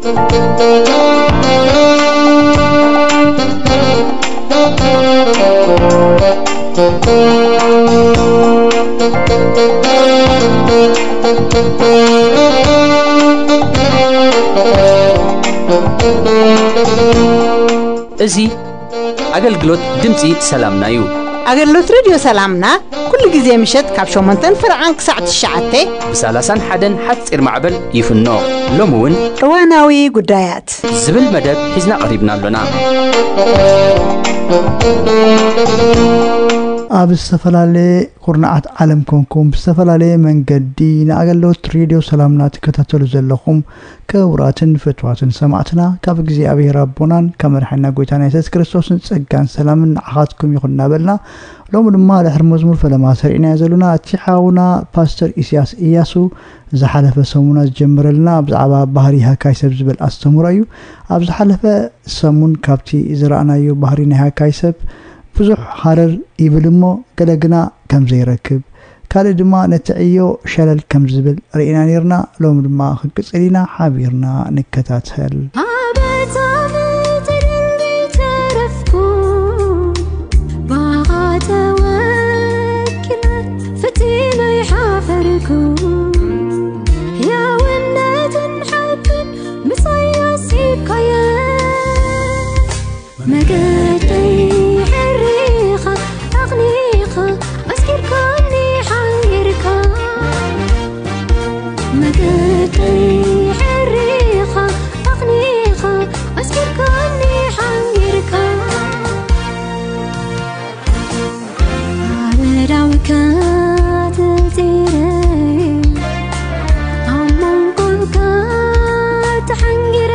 እዚ ኣገልግሎት ድምፂ ሰላምና እዩ። ኣገልግሎት ሬድዮ ሰላምና ኩሉ ግዜ ምሸት ካብ ሸሞንተን ፍርዓን ክሳዕ ትሽዓተ ብ ሰላሳን ሓደን ሓፂር ማዕበል ይፍኖ። ሎሚ እውን እዋናዊ ጉዳያት ዝብል መደብ ሒዝና ቀሪብና ኣሎና። ኣብ ዝተፈላለየ ኩርናዓት ዓለም ኮንኩም ብዝተፈላለየ መንገዲ ንኣገልግሎት ሬድዮ ሰላምና ትከታተሉ ዘለኹም ክቡራትን ፍትዋትን ሰማዕትና፣ ካብ እግዚኣብሔር ኣቦናን ካብ መድሓና ጎይታና የሱስ ክርስቶስን ጸጋን ሰላምን ንዓኻትኩም ይኹን እናበልና፣ ሎሚ ድማ ድሕሪ መዝሙር ፈለማ ሰሪዕናዮ ዘለና እቲ ሓውና ፓስተር ኢሳያስ ኢያሱ ዝሓለፈ ሰሙና ዝጀመረልና ብዛዕባ ባህሪ ሃካይ ሰብ ዝብል ኣስተምህሮ እዩ። ኣብ ዝሓለፈ ሰሙን ካብቲ ዝረኣናዮ ባህሪ ናይ ሃካይ ሰብ ብዙሕ ሃረር ይብል እሞ ገለ ግና ከም ዘይረክብ፣ ካልእ ድማ ነቲ ዕዮ ሸለል ከም ዝብል ርኢና ነይርና። ሎሚ ድማ ክንቅጽል ኢና፣ ሓቢርና ንከታተል። ኣበታ ምድሪ ተረፍኩ፣ ባኻ ተወኪለ ፈጺመ ይሓፈርኩ። ሕያውነትን ሓቅን ምሳይ ኣሲብካየ። መገደይ ሕሪኻ ኣቕኒኻ ኣስኪርካኒ ሓንጊርካ። መገደይ ሕሪኻ ኣቕኒኻ ኣስኪርካኒ ሓንጊርካ። ኣብ ዳውካ ተጺረ ኣብ መንጎካ ተሓንጊረ።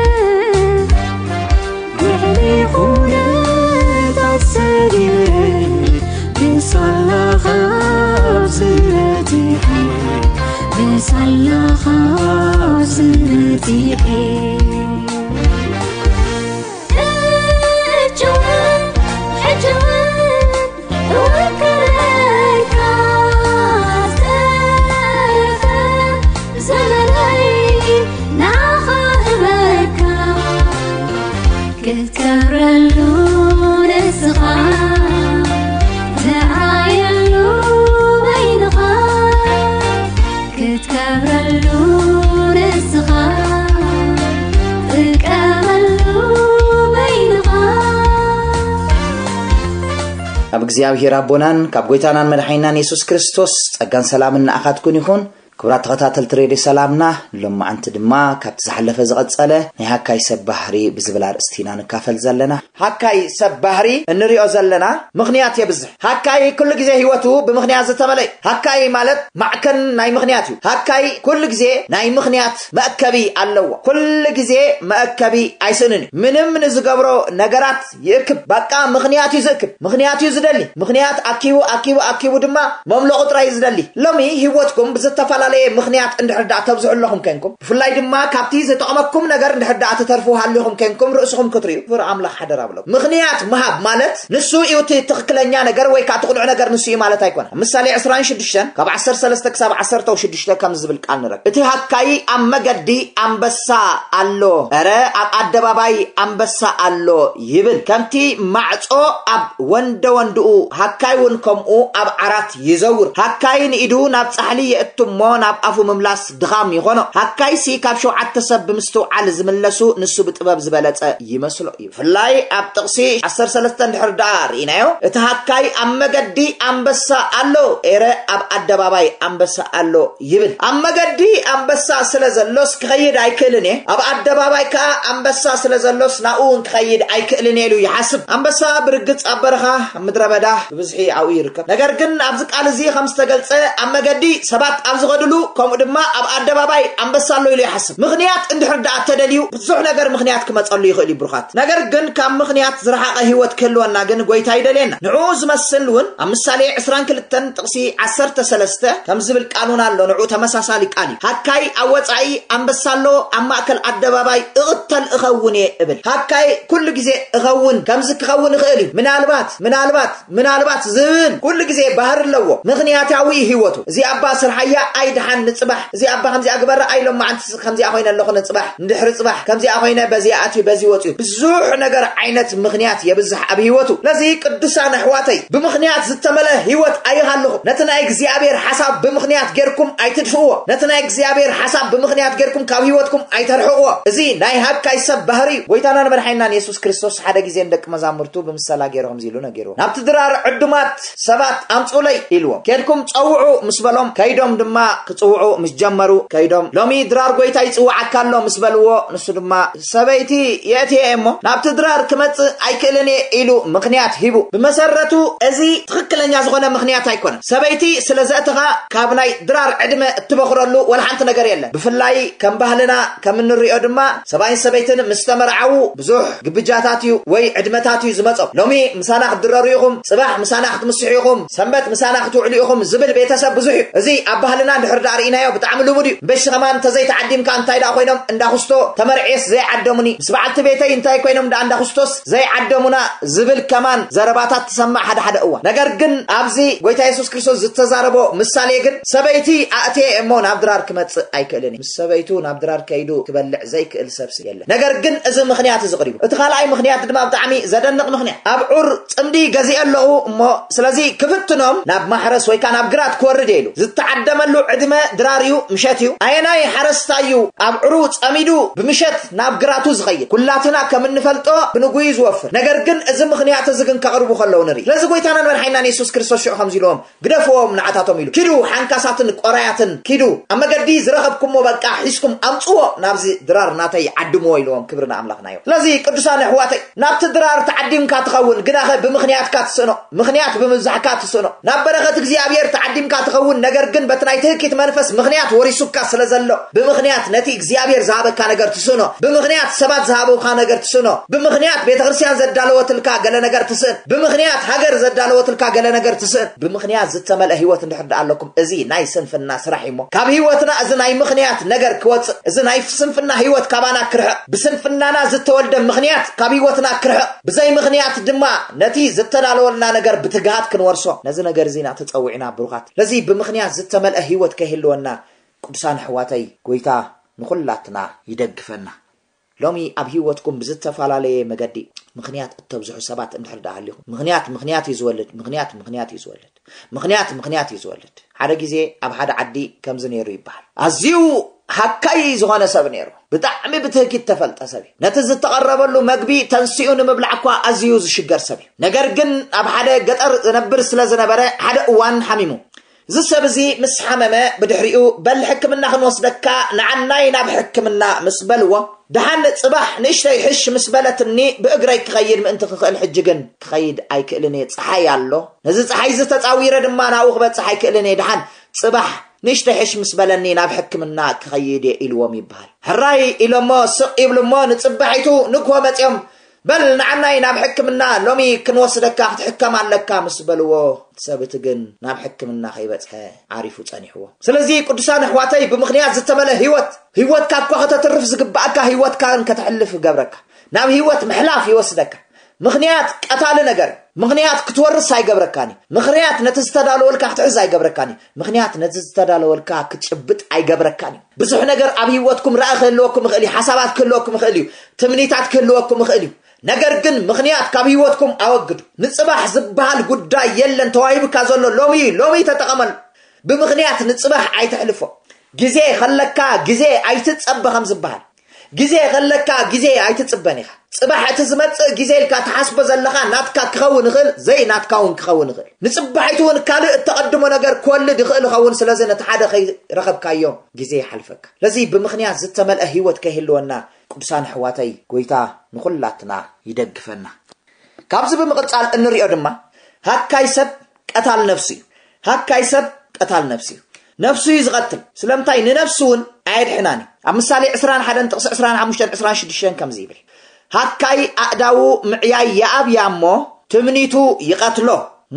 ልዕሊ ኩነታት ሰጊረ ብሳላኻ ዝመቲሐ ብሳላኻ ዝመቲሐ። ሕጂ እውን ሕጂ እውን እወከለካ ዝተረፈ ዘመነይ ንዓኻ እህበካ። ክትከብረሉ ንስኻ ትርኣየሉ በይንኻ። ክትከብረሉ ንስኻ ጥቀመሉ በይንኻ። ካብ እግዚኣብሔር ኣቦናን ካብ ጎይታናን መድሓኒናን የሱስ ክርስቶስ ጸጋን ሰላምን ንኣኻትኩን ይኹን። ክቡራት ተኸታተልቲ ሬድዮ ሰላምና፣ ሎማዓንቲ ድማ ካብቲ ዝሓለፈ ዝቐጸለ ናይ ሃካይ ሰብ ባህሪ ብዝብል ኣርእስቲ ኢና ንካፈል ዘለና። ሃካይ ሰብ ባህሪ እንሪኦ ዘለና ምኽንያት የብዝሕ። ሃካይ ኩሉ ግዜ ህይወቱ ብምኽንያት ዝተመልአ እዩ። ሃካይ ማለት ማዕከን ናይ ምኽንያት እዩ። ሃካይ ኩሉ ግዜ ናይ ምኽንያት መእከቢ ኣለዎ። ኩሉ ግዜ መእከቢ ኣይስእንን እዩ። ምንም ንዝገብሮ ነገራት ይእክብ። በቃ ምኽንያት እዩ ዝእክብ። ምኽንያት እዩ ዝደሊ። ምኽንያት ኣኪቡ፣ ኣኪቡ፣ ኣኪቡ ድማ መምለቑ ጥራይ እዩ ዝደሊ። ሎሚ ህይወትኩም ብዝተፈላለየ ምኽንያት እንድሕር ደኣ ተብዝሑ ኣለኹም ኮንኩም፣ ብፍላይ ድማ ካብቲ ዝጠቕመኩም ነገር እንድሕር ደኣ ትተርፉ ሃሊኹም ኮንኩም፣ ርእስኹም ክትርእዩ ክቡር ኣምላኽ ሓደራ ብለኩም። ምኽንያት ምሃብ ማለት ንሱ እዩ እቲ ትኽክለኛ ነገር ወይ ከኣ እቲ ቅኑዕ ነገር ንሱ እዩ ማለት ኣይኮነን። ኣብ ምሳሌ ዕስራን ሽዱሽተን ካብ ዓሰርተ ሰለስተ ክሳብ ዓሰርተ ሽዱሽተ ከም ዝብል ቃል ንረክብ። እቲ ሃካይ ኣብ መገዲ ኣንበሳ ኣሎ፣ ኧረ ኣብ ኣደባባይ ኣንበሳ ኣሎ ይብል። ከምቲ ማዕጾ ኣብ ወንደ ወንድኡ፣ ሃካይ እውን ከምኡ ኣብ ዓራት ይዘውር። ሃካይ ንኢዱ ናብ ጻሕሊ የእቱ እሞ ናብ ኣፉ ምምላስ ድኻም ይኾኖ። ሃካይሲ ካብ ሸውዓተ ሰብ ብምስትውዓል ዝምለሱ ንሱ ብጥበብ ዝበለጸ ይመስሎ እዩ። ብፍላይ ኣብ ጥቕሲ ዓሰርተ ሰለስተ እንድሕር ደኣ ርኢናዮ፣ እቲ ሃካይ ኣብ መገዲ ኣንበሳ ኣሎ፣ ኤረ ኣብ ኣደባባይ ኣንበሳ ኣሎ ይብል። ኣብ መገዲ ኣንበሳ ስለ ዘሎስ ክኸይድ ኣይክእልን እየ፣ ኣብ ኣደባባይ ከኣ ኣንበሳ ስለ ዘሎስ ናብኡ እውን ክኸይድ ኣይክእልን እየ ኢሉ ይሓስብ። ኣንበሳ ብርግጽ ኣብ በረኻ፣ ኣብ ምድረ በዳ ብብዝሒ ኣብኡ ይርከብ። ነገር ግን ኣብዚ ቃል እዚ ከም ዝተገልጸ ኣብ መገዲ ሰባት ኣብ ዝኸድሉ፣ ከምኡ ድማ ኣብ ኣደባባይ ኣንበሳ ኣሎ ኢሉ ይሓስብ። ምኽንያት እንድሕር ደኣ ተደልዩ ብዙሕ ነገር ምኽንያት ክመጸሉ ይኽእል እዩ ብሩኻት። ነገር ግን ካብ ምኽንያት ዝረሓቐ ህይወት ክህልወና ግን ጎይታ ይደልየና። ንዕኡ ዝመስል እውን ኣብ ምሳሌ ዕስራን ክልተን ጥቕሲ ዓሰርተ ሰለስተ ከም ዝብል ቃል እውን ኣሎ። ንዕኡ ተመሳሳሊ ቃል እዩ። ሃካይ ኣብ ወጻኢ ኣንበሳ ኣሎ፣ ኣብ ማእከል ኣደባባይ እቕተል እኸውን እየ እብል። ሃካይ ኩሉ ግዜ እኸውን፣ ከምዚ ክኸውን ይኽእል እዩ። ምናልባት፣ ምናልባት፣ ምናልባት ዝብል ኩሉ ግዜ ባህሪ ኣለዎ። ምኽንያታዊ እዩ ህይወቱ። እዚ ኣባ ስርሓያ ኣይደ ደሓን ንጽባሕ እዚ ኣባ ከምዚኣ ግበረ ኣይሎም መዓንቲ ከምዚኣ ኮይነ ኣለኹ ንጽባሕ እንድሕሪ ጽባሕ ከምዚኣ ኮይነ በዚኣ ኣትዩ በዚ ወፅዩ ብዙሕ ነገር ዓይነት ምኽንያት የብዝሕ ኣብ ህይወቱ። ስለዚ ቅዱሳን ኣሕዋተይ ብምኽንያት ዝተመልአ ህይወት ኣይሃልኹም። ነቲ ናይ እግዚኣብሔር ሓሳብ ብምኽንያት ጌርኩም ኣይትድፍእዎ። ነቲ ናይ እግዚኣብሔር ሓሳብ ብምኽንያት ጌርኩም ካብ ህይወትኩም ኣይተርሕቕዎ። እዚ ናይ ሃካይ ሰብ ባህሪ እዩ። ጎይታናን መድሓኒናን የሱስ ክርስቶስ ሓደ ግዜ ንደቂ መዛሙርቱ ብምሰላ ገይሩ ከምዚ ኢሉ ነጊርዎም። ናብቲ ድራር ዕዱማት ሰባት ኣምፁለይ ኢልዎም። ኬድኩም ፀውዑ ምስ በሎም ከይዶም ድማ ክፅውዑ ምስ ጀመሩ ከይዶም ሎሚ ድራር ጎይታ ይፅውዓካ ኣሎ ምስ በልዎ ንሱ ድማ ሰበይቲ የእትየ እሞ ናብቲ ድራር ክመፅእ ኣይክእልን እየ ኢሉ ምኽንያት ሂቡ። ብመሰረቱ እዚ ትኽክለኛ ዝኾነ ምኽንያት ኣይኮነን። ሰበይቲ ስለ ዘእተኻ ካብ ናይ ድራር ዕድመ እትበኽረሉ ወላ ሓንቲ ነገር የለን። ብፍላይ ከም ባህልና ከም እንሪኦ ድማ ሰብኣይን ሰበይትን ምስ ተመርዓዉ ብዙሕ ግብጃታት እዩ ወይ ዕድመታት እዩ ዝመጾም። ሎሚ ምሳና ክትድረሩ ኢኹም፣ ጽባሕ ምሳና ክትምስሑ ኢኹም፣ ሰንበት ምሳና ክትውዕሉ ኢኹም ዝብል ቤተሰብ ብዙሕ እዩ። እዚ ኣብ ባህልና እንድሕር ደኣ ርኢናዮ ብጣዕሚ ልሙድ እዩ። እምበሺ ከማን እንተዘይተዓዲምካ እንታይ ደኣ ኮይኖም እንዳኹስቶ ተመርዕየስ ዘይዓደሙኒ፣ ምስ በዓልቲ ቤተይ እንታይ ኮይኖም ደኣ እንዳኹስቶስ ዘይዓደሙና ዝብል ከማን ዘረባታት ትሰማዕ ሓደ ሓደ እዋን። ነገር ግን ኣብዚ ጎይታ የሱስ ክርስቶስ ዝተዛረቦ ምሳሌ ግን ሰበይቲ ኣእትየ እሞ ናብ ድራር ክመጽእ ኣይክእልን እዩ። ምስ ሰበይቱ ናብ ድራር ከይዱ ክበልዕ ዘይክእል ሰብሲ የለን። ነገር ግን እዚ ምኽንያት እዚ ቅሪቡ። እቲ ካልኣይ ምኽንያት ድማ ብጣዕሚ ዘደንቕ ምኽንያት። ኣብ ዑር ጽምዲ ገዚአ ኣለኹ እሞ ስለዚ ክፍትኖም ናብ ማሕረስ ወይ ከዓ ናብ ግራት ክወርድ እየ ኢሉ። ዝተዓደመሉ ዕድመ ድራር እዩ፣ ምሸት እዩ። ኣየናይ ሓረስታይ እዩ ኣብ ዑሩ ጸሚዱ ብምሸት ናብ ግራቱ ዝኸይድ? ኩላትና ከም እንፈልጦ ብንጉዩ ዝወፍር። ነገር ግን እዚ ምኽንያት እዚ ግን ከቕርቡ ከለዉ ንርኢ። ስለዚ ጎይታናን መድሓኒናን የሱስ ክርስቶስ ሽዑ ከምዚ ኢልዎም ግደፍዎም ንዓታቶም ኢሉ። ኪዱ ሓንካሳትን ቆራያትን ኪዱ። ኣብ መገዲ ዝረኸብኩሞ በቃ ሒዝኩም ኣምጽዎ ናብዚ ድራር ናተይ ዓድምዎ ኢልዎም። ክብሪ ንኣምላኽና ይኹን። ስለዚ ቅዱሳን ኣሕዋተይ ናብቲ ድራር ተዓዲምካ ትኸውን ግናኸ ብምኽንያትካ ትስእኖ። ምኽንያት ብምብዛሕካ ትስእኖ። ናብ በረኸት እግዚኣብሔር ተዓዲምካ ትኸውን ነገር ግን በቲ ናይ ትህኪት መንፈስ ምኽንያት ወሪሱካ ስለ ዘሎ ብምኽንያት ነቲ እግዚኣብሔር ዝሃበካ ነገር ትስእኖ። ብምኽንያት ሰባት ዝሃበውካ ነገር ትስእኖ። ብምኽንያት ቤተ ክርስቲያን ዘዳለወትልካ ገለ ነገር ትስእን። ብምኽንያት ሃገር ዘዳለወትልካ ገለ ነገር ትስእን። ብምኽንያት ዝተመልአ ህይወት እንድሕር ደኣ ኣለኩም፣ እዚ ናይ ስንፍና ስራሕ እዩ እሞ፣ ካብ ህይወትና እዚ ናይ ምኽንያት ነገር ክወጽእ፣ እዚ ናይ ስንፍና ህይወት ካባና ክርሕቕ፣ ብስንፍናና ዝተወልደ ምኽንያት ካብ ህይወትና ክርሕቕ፣ ብዘይ ምኽንያት ድማ ነቲ ዝተዳለወልና ነገር ብትግሃት ክንወርሶ፣ ነዚ ነገር እዚ ኢና ተጸዊዕና ብሩኻት። ስለዚ ብምኽንያት ዝተመልአ ህይወት ከይህልወና ቅዱሳን ኣሕዋተይ፣ ጎይታ ንኹላትና ይደግፈና። ሎሚ ኣብ ህይወትኩም ብዝተፈላለየ መገዲ ምኽንያት እተብዝሑ ሰባት እንድሕር ደኣ ሃሊኹም፣ ምኽንያት ምኽንያት እዩ ዝወልድ፣ ምኽንያት ምኽንያት እዩ ዝወልድ፣ ምኽንያት ምኽንያት እዩ ዝወልድ። ሓደ ግዜ ኣብ ሓደ ዓዲ ከምዚ ነይሩ ይበሃል። ኣዝዩ ሃካይ ዝኾነ ሰብ ነይሩ። ብጣዕሚ ብትህኪት ተፈልጠ ሰብ እዩ። ነቲ ዝተቐረበሉ መግቢ ተንሲኡ ንምብላዕ እኳ ኣዝዩ ዝሽገር ሰብ እዩ። ነገር ግን ኣብ ሓደ ገጠር ዝነብር ስለ ዝነበረ ሓደ እዋን ሓሚሙ። እዚ ሰብ እዚ ምስ ሓመመ ብድሕሪኡ በል ሕክምና ክንወስደካ ንዓናይ ናብ ሕክምና ምስ በልዎ ደሓን ጽባሕ ንእሽተይ ሕሽ ምስ በለትኒ ብእግረይ ክኸይድ ምእንቲ ክኽእል ሕጂ ግን ክኸይድ ኣይክእልን እየ ጸሓይ ኣሎ ነዚ ጸሓይ እዚ ተጻዊረ ድማ ናብኡ ክበጽሕ ኣይክእልን እየ ደሓን ጽባሕ ንእሽተይ ሕሽ ምስ በለኒ ናብ ሕክምና ክኸይድ እየ ኢልዎም ይበሃል ሕራይ ኢሎሞ ስቕ ይብልሞ ንጽባሒቱ ንግሆ መጽዮም በል ንዓናይ ናብ ሕክምና ሎሚ ክንወስደካ ክትሕከም ኣለካ ምስ በልዎ እቲ ሰብ እቲ ግን ናብ ሕክምና ከይበጽሐ ዓሪፉ ጸኒሕዎ። ስለዚ ቅዱሳን ኣሕዋተይ ብምኽንያት ዝተመልአ ህይወት ህይወትካ እኳ ከተትርፍ ዝግባኣካ ህይወትካን ከተሕልፍ ይገብረካ። ናብ ህይወት ምሕላፍ ይወስደካ። ምኽንያት ቀታሊ ነገር ምኽንያት ክትወርስ ኣይገብረካን እዩ። ምኽንያት ነቲ ዝተዳለወልካ ክትሕዝ ኣይገብረካን እዩ። ምኽንያት ነቲ ዝተዳለወልካ ክትጭብጥ ኣይገብረካን እዩ። ብዙሕ ነገር ኣብ ህይወትኩም ራእይ ክህልወኩም ይኽእል እዩ። ሓሳባት ክህልወኩም ይኽእል እዩ። ትምኒታት ክህልወኩም ይኽእል እዩ። ነገር ግን ምኽንያት ካብ ህይወትኩም ኣወግዱ። ንጽባሕ ዝበሃል ጉዳይ የለን ተዋሂብካ ዘሎ ሎሚ እዩ። ሎሚ ተጠቐመሉ። ብምኽንያት ንጽባሕ ኣይተሕልፎ። ግዜ ከለካ ግዜ ኣይትጸበ ከም ዝበሃል ግዜ ከለካ ግዜ ኣይትጽበን ኢኻ። ጽባሕ እቲ ዝመጽእ ግዜ ኢልካ ትሓስቦ ዘለኻ ናትካ ክኸውን ይኽእል፣ ዘይናትካ እውን ክኸውን ይኽእል። ንጽባሒቱ እውን ካልእ እተቐድሞ ነገር ክወልድ ይኽእል ይኸውን። ስለዚ ነቲ ሓደ ከይረኸብካዮ ግዜ ይሓልፈካ። ስለዚ ብምኽንያት ዝተመልአ ህይወት ከይህልወና ቅዱሳን ኣሕዋተይ ጎይታ ንኹላትና ይደግፈና። ካብዚ ብምቕጻል እንሪኦ ድማ ሃካይ ሰብ ቀታል ነፍሱ እዩ። ሃካይ ሰብ ቀታል ነፍሱ እዩ። ነፍሱ እዩ ዝቐትል። ስለምንታይ ንነፍሱ እውን ኣየድሕናን እዩ። ኣብ ምሳሌ ዕስራን ሓደን ጥቕሲ ዕስራን ሓሙሽተን ዕስራን ሽዱሽተን ከምዚ ይብል። ሃካይ ኣእዳዉ ምዕያይ ይኣብያ እሞ ትምኒቱ ይቐትሎ።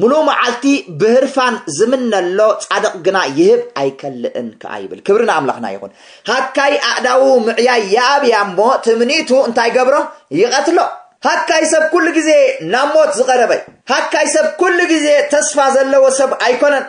ሙሉ መዓልቲ ብህርፋን ዝምነሎ ጻድቕ ግና ይህብ ኣይከልእን ከኣ ይብል። ክብሪ ንኣምላኽና ይኹን። ሃካይ ኣእዳዉ ምዕያይ ይኣብያ እሞ ትምኒቱ እንታይ ገብሮ ይቐትሎ። ሃካይ ሰብ ኩሉ ግዜ ናብ ሞት ዝቐረበ እዩ። ሃካይ ሰብ ኩሉ ግዜ ተስፋ ዘለዎ ሰብ ኣይኮነን።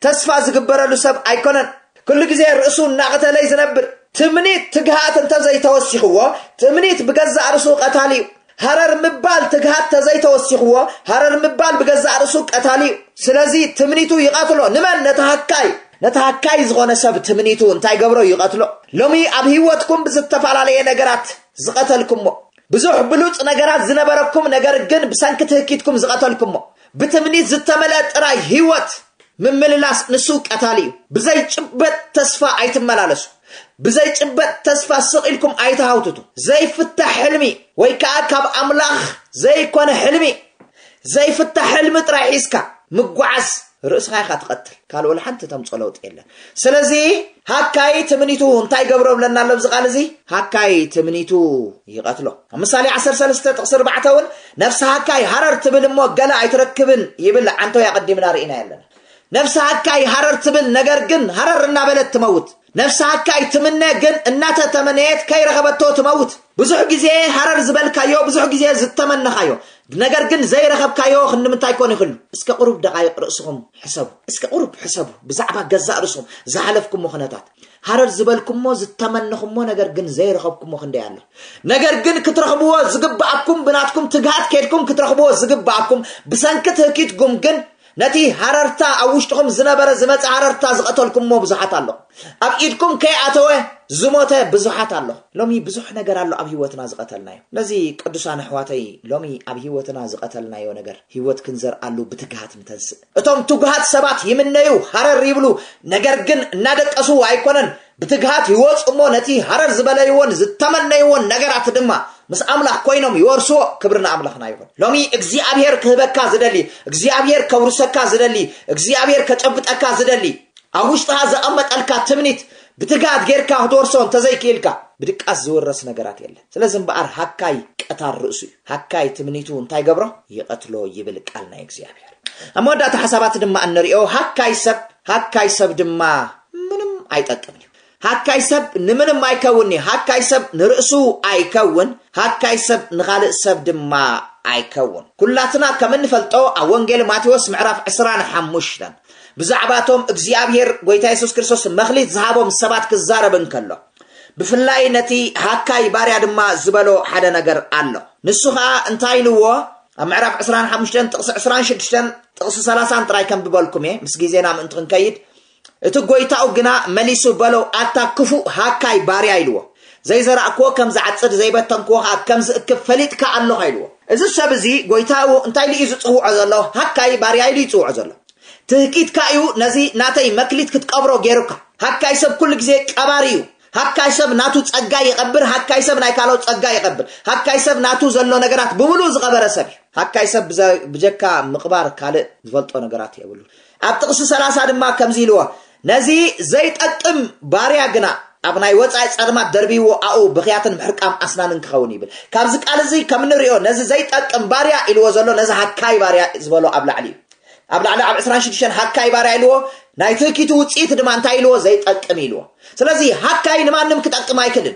ተስፋ ዝግበረሉ ሰብ ኣይኮነን። ኩሉ ግዜ ርእሱ እናቐተለ እዩ ዝነብር። ትምኒት ትግሃት እንተዘይተወሲኽዎ፣ ትምኒት ብገዛእ ርእሱ ቀታሊ እዩ። ሃረር ምባል ትግሃት ተዘይተወሲኽዎ፣ ሃረር ምባል ብገዛእ ርእሱ ቀታሊ እዩ። ስለዚ ትምኒቱ ይቐትሎ። ንመን? ነቲ ሃካይ። ነቲ ሃካይ ዝኾነ ሰብ ትምኒቱ እንታይ ገብሮ? ይቐትሎ። ሎሚ ኣብ ህይወትኩም ብዝተፈላለየ ነገራት ዝቐተልኩሞ፣ ብዙሕ ብሉጽ ነገራት ዝነበረኩም፣ ነገር ግን ብሰንኪ ትህኪትኩም ዝቐተልኩሞ፣ ብትምኒት ዝተመልአ ጥራይ ህይወት ምምልላስ ንሱ ቀታሊ እዩ። ብዘይጭበጥ ተስፋ ኣይትመላለሱ። ብዘይጭበጥ ተስፋ ስቕ ኢልኩም ኣይትሃውትቱ። ዘይፍታሕ ሕልሚ ወይ ከዓ ካብ ኣምላኽ ዘይኮነ ሕልሚ፣ ዘይፍታሕ ሕልሚ ጥራይ ሒዝካ ምጓዓዝ ርእስኻ ኢኻ ትቐትል። ካልእ ወላ ሓንቲ ተምጾ ለውጢ የለን። ስለዚ ሃካይ ትምኒቱ እንታይ ገብሮ ብለና ኣሎ ኣብዚ ቃል እዚ? ሃካይ ትምኒቱ ይቐትሎ። ኣብ ምሳሌ ዓሰርተ ሰለስተ ጥቕሲ ኣርባዕተ እውን ነፍሲ ሃካይ ሃረር ትብል እሞ ገለ ኣይትረክብን ይብል ዓንተው ኣቐዲምና ርኢና ኣለና። ነፍሲ ሃካይ ሃረር ትብል፣ ነገር ግን ሃረር እናበለት ትመውት። ነፍሲ ሃካይ ትምነ ግን እናተተመነየት ከይረኸበቶ ትመውት። ብዙሕ ግዜ ሃረር ዝበልካዮ፣ ብዙሕ ግዜ ዝተመነኻዮ፣ ነገር ግን ዘይረኸብካዮ ክንምንታይ ኮን ይኽሉ? እስከ ቁሩብ ደቓይቕ ርእስኹም ሕሰቡ። እስከ ቁሩብ ሕሰቡ ብዛዕባ ገዛእ ርእስኹም ዝሓለፍኩሞ ኩነታት። ሃረር ዝበልኩሞ፣ ዝተመነኹሞ፣ ነገር ግን ዘይረኸብኩሞ ክንደይ ኣሎ። ነገር ግን ክትረኽብዎ ዝግብኣኩም፣ ብናትኩም ትግሃት ከድኩም ክትረኽብዎ ዝግብኣኩም፣ ብሰንኪ ትህኪትኩም ግን ነቲ ሃረርታ ኣብ ውሽጥኹም ዝነበረ ዝመጸ ሃረርታ ዝቐተልኩሞ ብዙሓት ኣሎ። ኣብ ኢድኩም ከይኣተወ ዝሞተ ብዙሓት ኣሎ። ሎሚ ብዙሕ ነገር ኣሎ ኣብ ህይወትና ዝቐተልናዮ። ነዚ ቅዱሳን ኣሕዋተይ፣ ሎሚ ኣብ ህይወትና ዝቐተልናዮ ነገር ህይወት ክንዘርኣሉ ብትግሃት ንተንስእ። እቶም ትጉሃት ሰባት ይምነዩ፣ ሃረር ይብሉ፣ ነገር ግን እናደቀሱ ኣይኮነን። ብትግሃት ይወጹ እሞ ነቲ ሃረር ዝበለይዎን ዝተመነይዎን ነገራት ድማ ምስ ኣምላኽ ኮይኖም ይወርስዎ። ክብሪ ንኣምላኽና ይኹን። ሎሚ እግዚኣብሔር ክህበካ ዝደሊ፣ እግዚኣብሔር ከውርሰካ ዝደሊ፣ እግዚኣብሔር ከጨብጠካ ዝደሊ፣ ኣብ ውሽጥኻ ዘቐመጠልካ ትምኒት ብትግሃት ጌርካ ክትወርሶ እንተዘይክኢልካ፣ ብድቃስ ዝውረስ ነገራት የለን። ስለዚ እምበኣር ሃካይ ቀታር ርእሱ እዩ። ሃካይ ትምኒቱ እንታይ ገብሮ? ይቐትሎ ይብል ቃል ናይ እግዚኣብሔር። ኣብ መወዳእታ ሓሳባት ድማ እንሪኦ፣ ሃካይ ሰብ፣ ሃካይ ሰብ ድማ ምንም ኣይጠቅምን እዩ። ሃካይ ሰብ ንምንም ኣይከውን እዩ። ሃካይ ሰብ ንርእሱ ኣይከውን፣ ሃካይ ሰብ ንኻልእ ሰብ ድማ ኣይከውን። ኩላትና ከም እንፈልጦ ኣብ ወንጌል ማቴዎስ ምዕራፍ ዕስራን ሓሙሽተን ብዛዕባ እቶም እግዚኣብሔር ጎይታ የሱስ ክርስቶስ መኽሊት ዝሃቦም ሰባት ክዛረብ እንከሎ፣ ብፍላይ ነቲ ሃካይ ባርያ ድማ ዝበሎ ሓደ ነገር ኣሎ። ንሱ ኸኣ እንታይ ኢልዎ? ኣብ ምዕራፍ ዕስራን ሓሙሽተን ጥቕሲ ዕስራን ሽዱሽተን ጥቕሲ ሰላሳን ጥራይ ከንብበልኩም እየ፣ ምስ ግዜና ምእንቲ ክንከይድ። እቲ ጎይታኡ ግና መሊሱ በሎ፣ ኣታ ክፉእ ሃካይ ባርያ ኢልዎ። ዘይዘራእክዎ ከም ዝዓጽድ፣ ዘይበተንክዎ ኸኣ ከም ዝእክብ ፈሊጥካ ኣሎኻ ኢልዎ። እዚ ሰብ እዚ ጎይታኡ እንታይ ኢሉ እዩ ዝጽውዖ ዘሎ? ሃካይ ባርያ ኢሉ ይጽውዖ ዘሎ። ትህኪትካ እዩ ነዚ ናተይ መክሊት ክትቀብሮ ገይሩካ። ሃካይ ሰብ ኩሉ ግዜ ቀባሪ እዩ። ሃካይ ሰብ ናቱ ጸጋ ይቐብር፣ ሃካይ ሰብ ናይ ካልኦት ጸጋ ይቐብር። ሃካይ ሰብ ናቱ ዘሎ ነገራት ብምሉእ ዝቐበረ ሰብ እዩ። ሃካይ ሰብ ብዘ-፣ ብጀካ ምቕባር ካልእ ዝፈልጦ ነገራት የብሉ። ኣብ ጥቕሲ ሰላሳ ድማ ከምዚ ኢልዎ፣ ነዚ ዘይጠቅም ባርያ ግና ኣብ ናይ ወጻኢ ጸልማት ደርብይዎ፣ ኣኡ ብኽያትን ምሕርቃም ኣስናንን ክኸውን ይብል። ካብዚ ቃል እዚ ከም እንሪኦ ነዚ ዘይጠቅም ባርያ ኢልዎ ዘሎ ነዚ ሃካይ ባርያ ዝበሎ ኣብ ላዕሊ እዩ። ኣብ ላዕሊ ኣብ ዕስራን ሽዱሽተን ሃካይ ባርያ ኢልዎ፣ ናይ ትህኪቱ ውጽኢት ድማ እንታይ ኢልዎ? ዘይጠቅም ኢልዎ። ስለዚ ሃካይ ንማንም ክጠቅም ኣይክልን።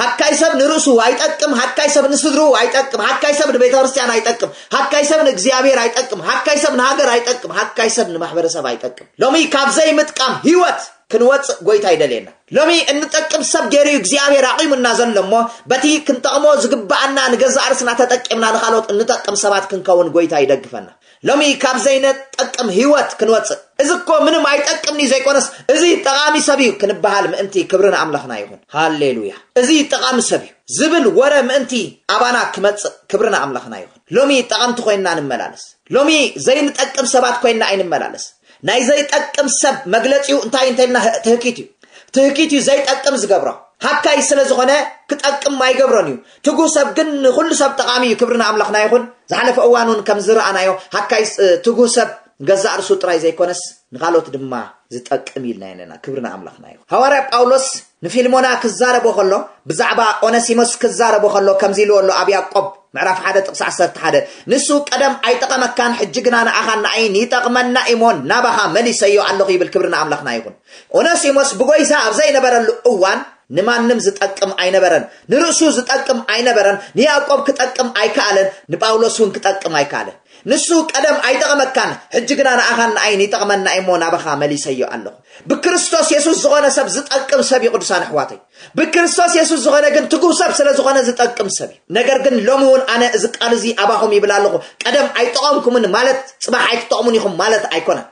ሃካይ ሰብ ንርእሱ ኣይጠቅም፣ ሃካይ ሰብ ንስድርኡ ኣይጠቅም፣ ሃካይ ሰብ ንቤተ ክርስቲያን ኣይጠቅም፣ ሃካይ ሰብ ንእግዚኣብሔር ኣይጠቅም፣ ሃካይ ሰብ ንሃገር ኣይጠቅም፣ ሃካይ ሰብ ንማሕበረሰብ ኣይጠቅም። ሎሚ ካብ ዘይምጥቃም ህይወት ክንወጽእ ጎይታ ይደልየና። ሎሚ እንጠቅም ሰብ ገይሩ እዩ እግዚኣብሔር ኣቂሙና ዘሎ እሞ፣ በቲ ክንጠቕሞ ዝግብኣና ንገዛእ ርእስና ተጠቂምና ንኻልኦት እንጠቅም ሰባት ክንከውን ጎይታ ይደግፈና። ሎሚ ካብ ዘይንጠቅም ህይወት ክንወጽእ። እዚ እኮ ምንም ኣይጠቅምኒ ዘይኮነስ፣ እዚ ጠቓሚ ሰብ እዩ ክንበሃል ምእንቲ ክብሪ ንኣምላኽና ይኹን። ሃሌሉያ። እዚ ጠቓሚ ሰብ እዩ ዝብል ወረ ምእንቲ ኣባና ክመጽእ ክብሪ ንኣምላኽና ይኹን። ሎሚ ጠቐምቲ ኮይንና ንመላለስ። ሎሚ ዘይንጠቅም ሰባት ኮይንና ኣይንመላለስ። ናይ ዘይጠቅም ሰብ መግለጺኡ እንታይ እንተልና ትህኪት እዩ። ትህኪት እዩ ዘይጠቅም ዝገብሮ። ሃካይ ስለ ዝኾነ ክጠቅም ኣይገብሮን እዩ። ትጉህ ሰብ ግን ንኹሉ ሰብ ጠቓሚ እዩ። ክብሪ ንኣምላኽና ይኹን። ዝሓለፈ እዋን እውን ከም ዝረኣናዮ ሃካይ ስ-፣ ትጉህ ሰብ ገዛእ ርእሱ ጥራይ ዘይኮነስ ንኻልኦት ድማ ዝጠቅም ኢልና ኣለና። ክብሪ ንኣምላኽና ይኹን። ሃዋርያ ጳውሎስ ንፊልሞና ክዛረቦ ከሎ፣ ብዛዕባ ኦነሲሞስ ክዛረቦ ከሎ ከምዚ ኢልዎ ኣሎ ኣብ ያዕቆብ ምዕራፍ ሓደ ጥቕሲ ዓሰርተ ሓደ፣ ንሱ ቀደም ኣይጠቐመካን፣ ሕጂ ግና ንኣኻን ንኣይን ይጠቕመና እሞ ናባኻ መሊሰዮ ኣለኹ ይብል። ክብሪ ንኣምላኽና ይኹን። ኦነሲሞስ ብጎይታ ኣብ ዘይነበረሉ እዋን ንማንም ዝጠቅም ኣይነበረን፣ ንርእሱ ዝጠቅም ኣይነበረን፣ ንያዕቆብ ክጠቅም ኣይከኣለን፣ ንጳውሎስ እውን ክጠቅም ኣይከኣለን። ንሱ ቀደም ኣይጠቐመካን፣ ሕጂ ግና ንኣኻን ንኣይን ይጠቕመና እሞ ናባኻ መሊሰዮ ኣለኹ። ብክርስቶስ የሱስ ዝኾነ ሰብ ዝጠቅም ሰብ እዩ፣ ቅዱሳን ኣሕዋተይ። ብክርስቶስ የሱስ ዝኾነ ግን ትጉህ ሰብ ስለ ዝኾነ ዝጠቅም ሰብ እዩ። ነገር ግን ሎሚ እውን ኣነ እዚ ቃል እዚ ኣባኹም ይብል ኣለኹ። ቀደም ኣይጠቐምኩምን ማለት ጽባሕ ኣይትጠቕሙን ኢኹም ማለት ኣይኮነን።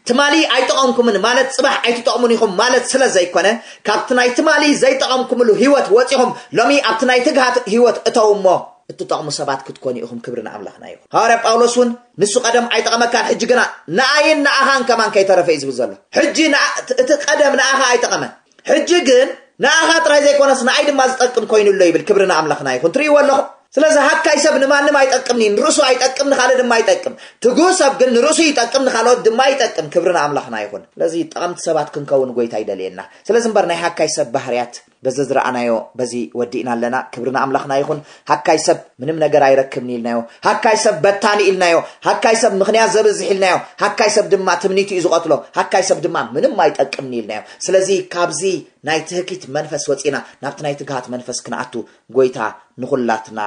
ትማሊ ኣይጠቐምኩምን ማለት ጽባሕ ኣይትጠቕሙን ኢኹም ማለት ስለ ዘይኮነ፣ ካብቲ ናይ ትማሊ ዘይጠቐምኩምሉ ህይወት ወጺኹም ሎሚ ኣብቲ ናይ ትግሃት ህይወት እተው እሞ እትጠቕሙ ሰባት ክትኮኑ ኢኹም። ክብሪ ንኣምላኽና ይኹን። ሃዋርያ ጳውሎስ እውን ንሱ ቀደም ኣይጠቐመካን፣ ሕጂ ግና ንኣይን ንኣኻን ከማን ከይተረፈ እዩ ዝብል ዘሎ። ሕጂ ንኣ-፣ እቲ ቀደም ንኣኻ ኣይጠቐመን። ሕጂ ግን ንኣኻ ጥራይ ዘይኮነስ ንኣይ ድማ ዝጠቅም ኮይኑ ኣሎ ይብል። ክብሪ ንኣምላኽና ይኹን። ትርእይዎ ኣለኹም። ስለዚ ሃካይ ሰብ ንማንም ኣይጠቅምን እዩ፣ ንርእሱ ኣይጠቅም፣ ንኻልእ ድማ ኣይጠቅም። ትጉህ ሰብ ግን ንርእሱ ይጠቅም፣ ንኻልኦት ድማ ይጠቅም። ክብሪ ንኣምላኽና ይኹን። ስለዚ ጠቐምቲ ሰባት ክንከውን ጎይታ ይደልየና። ስለዚ እምበር ናይ ሃካይ ሰብ ባህርያት በዚ ዝረኣናዮ በዚ ወዲእና ኣለና። ክብሪ ንኣምላኽና ይኹን። ሃካይ ሰብ ምንም ነገር ኣይረክብን ኢልናዮ። ሃካይ ሰብ በታኒ ኢልናዮ። ሃካይ ሰብ ምኽንያት ዘብዝሕ ኢልናዮ። ሃካይ ሰብ ድማ ትምኒቱ እዩ ዝቐትሎ። ሃካይ ሰብ ድማ ምንም ኣይጠቅምን ኢልናዮ። ስለዚ ካብዚ ናይ ትህኪት መንፈስ ወፂና ናብቲ ናይ ትግሃት መንፈስ ክንኣቱ ጎይታ ንኹላትና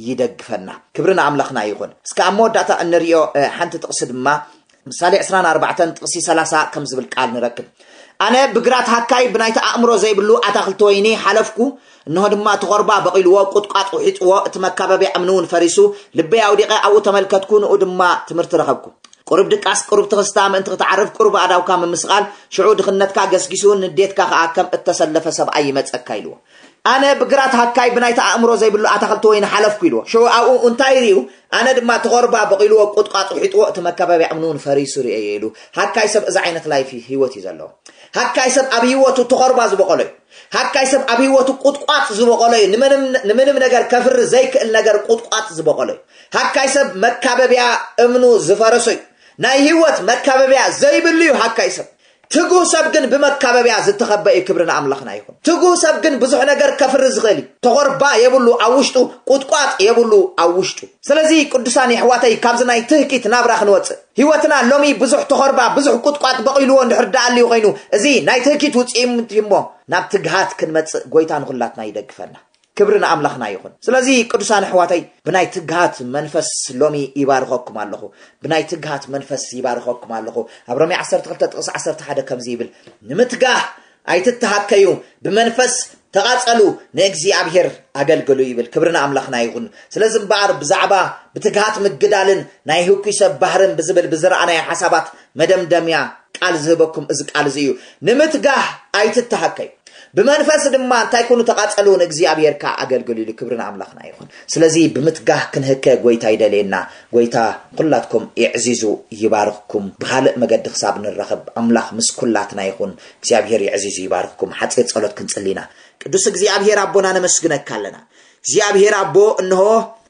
ይደግፈና። ክብሪ ንኣምላኽና ይኹን። እስከ ኣብ መወዳእታ እንሪኦ፣ እ፣ ሓንቲ ጥቕሲ ድማ ምሳሌ ዕስራን ኣርባዕተን ጥቕሲ ሰላሳ ከም ዝብል ቃል ንረክብ። ኣነ ብግራት ሃካይ ብናይቲ ኣእምሮ ዘይብሉ ኣታኽልቲ ወይኒ ሓለፍኩ፣ እንሆ ድማ እቲ ኾርባ በቒልዎ፣ ቁጥቋጥ ውሒጥዎ፣ እቲ መካበቢያ እምኒ እውን ፈሪሱ፣ ልበይ ኣውዲቐ ኣብኡ ተመልከትኩ፣ ንኡ ድማ ትምህርቲ ረኸብኩ። ቁሩብ ድቃስ፣ ቁሩብ ትኽስታ ምእንቲ ክትዓርፍ፣ ቁሩብ ኣእዳውካ ምምስቓል፣ ሽዑ ድኽነትካ ገስጊሱ፣ ንዴትካ ኸኣ ከም እተሰለፈ ሰብኣይ ይመጸካ ኢልዎ። ኣነ ብግራት ሃካይ ብናይቲ ኣእምሮ ዘይብሉ ኣታኽልቲ ወይኒ ሓለፍኩ ኢልዎ። ሽዑ ኣብኡ እንታይ ርእዩ? ኣነ ድማ እቲ ኾርባ በቒልዎ፣ ቁጥቋጥ ውሒጥዎ፣ እቲ መካበቢያ እምኒ እውን ፈሪሱ ርእየዮ ኢሉ። ሃካይ ሰብ እዚ ዓይነት ላይፍ ህይወት እዩ ዘለዎ። ሃካይ ሰብ ኣብ ህይወቱ እቲ ኾርባ ዝበቖሎ እዩ። ሃካይ ሰብ ኣብ ህይወቱ ቁጥቋጥ ዝበቖሎ እዩ። ንምንም፣ ንምንም ነገር ከፍሪ ዘይክእል ነገር ቁጥቋጥ ዝበቖሎ እዩ። ሃካይ ሰብ መካበቢያ እምኑ ዝፈረሶ እዩ። ናይ ህይወት መካበቢያ ዘይብሉ እዩ ሃካይ ሰብ። ትጉህ ሰብ ግን ብመካበቢያ ዝተኸበ እዩ። ክብሪ ንኣምላኽና ይኹን። ትጉህ ሰብ ግን ብዙሕ ነገር ከፍሪ ዝኽእል እዩ። ተኾርባ የብሉ ኣብ ውሽጡ፣ ቁጥቋጥ የብሉ ኣብ ውሽጡ። ስለዚ ቅዱሳን የሕዋተይ፣ ካብዚ ናይ ትህኪት ናብራ ክንወፅእ፣ ህይወትና ሎሚ ብዙሕ ተኾርባ፣ ብዙሕ ቁጥቋጥ በቒልዎ እንድሕር ደኣልዩ ኮይኑ፣ እዚ ናይ ትህኪት ውፅኢት እሞ ናብ ትግሃት ክንመፅእ ጎይታ ንኹላትና ይደግፈና። ክብሪ ንኣምላኽና ይኹን። ስለዚ ቅዱሳን ኣሕዋተይ፣ ብናይ ትግሃት መንፈስ ሎሚ ይባርኸኩም ኣለኹ። ብናይ ትግሃት መንፈስ ይባርኸኩም ኣለኹ። ኣብ ሮሜ ዓሰርተ ክልተ ጥቕሲ ዓሰርተ ሓደ ከምዚ ይብል፣ ንምትጋህ ኣይትተሃከዩ፣ ብመንፈስ ተቓጸሉ፣ ንእግዚኣብሔር ኣገልግሉ ይብል። ክብሪ ንኣምላኽና ይኹን። ስለዚ እምበኣር ብዛዕባ ብትግሃት ምግዳልን ናይ ህኩይ ሰብ ባህርን ብዝብል ብዝረኣናዮ ሓሳባት መደምደምያ ቃል ዝህበኩም እዚ ቃል እዚ እዩ። ንምትጋህ ኣይትተሃከዩ። ብመንፈስ ድማ እንታይ ኩኑ ተቓጸሉ፣ ንእግዚኣብሔር ከኣ ኣገልግሉ ኢሉ። ክብሪ ንኣምላኽና ይኹን። ስለዚ ብምትጋህ ክንህከ ጎይታ ይደልየና። ጎይታ ኩላትኩም የዕዚዙ ይባርኽኩም። ብኻልእ መገዲ ክሳብ ንራኸብ ኣምላኽ ምስ ኩላትና ይኹን። እግዚኣብሔር የዕዚዙ ይባርኽኩም። ሓጺር ጸሎት ክንጽሊ ኢና። ቅዱስ እግዚኣብሔር ኣቦና ነመስግነካ ኣለና። እግዚኣብሔር ኣቦ እንሆ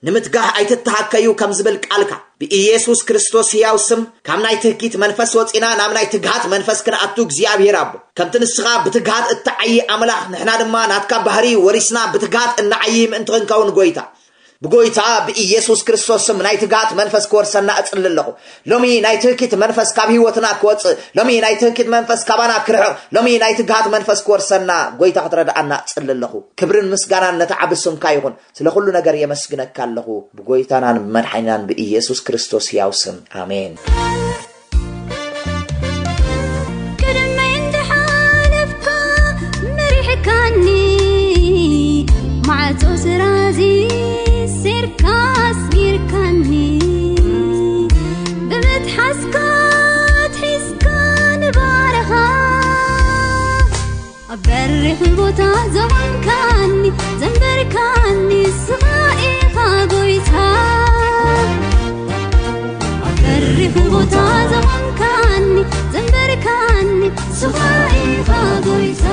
ንምትጋህ ኣይትተሃከዩ ከም ዝብል ቃልካ ብኢየሱስ ክርስቶስ ሕያው ስም ካብ ናይ ትህኪት መንፈስ ወጺና ናብ ናይ ትግሃት መንፈስ ክንኣቱ እግዚኣብሔር ኣቦ ከምቲ ንስኻ ብትግሃት እትዓዪ ኣምላኽ ንሕና ድማ ናትካ ባህሪ ወሪስና ብትግሃት እንዓዪ ምእንቲ ክንከውን ጎይታ ብጎይታ ብኢየሱስ ክርስቶስ ስም ናይ ትግሃት መንፈስ ክወርሰና እጽሊ ኣለኹ። ሎሚ ናይ ትህኪት መንፈስ ካብ ህይወትና ክወጽእ፣ ሎሚ ናይ ትህኪት መንፈስ ካባና ክርሕቕ፣ ሎሚ ናይ ትግሃት መንፈስ ክወርሰና ጎይታ ክትረድኣና እጽሊ ኣለኹ። ክብርን ምስጋናን ነቲ ዓቢ ስምካ ይኹን። ስለ ኩሉ ነገር የመስግነካ ኣለኹ ብጎይታናን ብመድሓኒናን ብኢየሱስ ክርስቶስ ሕያው ስም ኣሜን። ቅድመይ እንድሓለፍካ መሪሕካኒ፣ ማዕጾ ስራዚ ሴርካ ኣስጊርካኒ፣ ብምትሓዝካ ኣትሒዝካ ንባረኻ። ኣብ በሪኽ ቦታ ዘቖምካኒ፣ ዘንበርካኒ ንስኻ ኢኻ ጎይታ። ኣብ በሪኽ ቦታ ዘቖምካኒ፣ ዘንበርካኒ ንስኻ ኢኻ ጎይታ።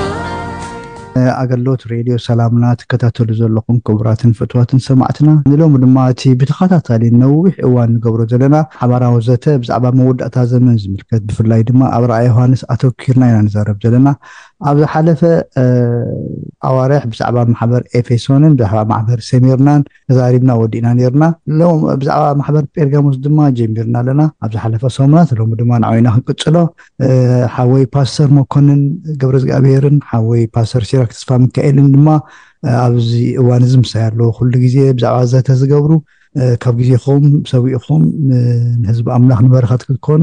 ኣገልግሎት ሬድዮ ሰላምና ትከታተሉ ዘለኹም ክቡራትን ፍትዋትን ሰማዕትና፣ ንሎሚ ድማ እቲ ብተኸታታሊ ነዊሕ እዋን ንገብሮ ዘለና ሓባራዊ ዘተ ብዛዕባ መወዳእታ ዘመን ዝምልከት፣ ብፍላይ ድማ ኣብ ራእይ ዮሃንስ ኣተኪርና ኢና ንዛረብ ዘለና። ኣብ ዝሓለፈ፣ እ፣ ኣዋርሕ ብዛዕባ ማሕበር ኤፌሶንን ብዛዕባ ማሕበር ሰሚርናን ተዛሪብና ወዲእና ነይርና። ሎም-፣ ብዛዕባ ማሕበር ጴርጋሞስ ድማ ጀሚርና ኣለና ኣብ ዝሓለፈ ሰሙናት። ሎሚ ድማ ንዓይና ክንቅጽሎ፣ እ፣ ሓወይ ፓስተር መኮንን ገብረ እግዚኣብሔርን ሓወይ ፓስተር ሲራክ ተስፋ ሚካኤልን ድማ፣ እ፣ ኣብዚ እዋን እዚ ምሳይ ኣለዉ። ኩሉ ግዜ ብዛዕባ ዘተ ዝገብሩ ካብ ግዜኹም ሰዊእኹም ንህዝቢ ኣምላኽ ንበረኸት ክትኮኑ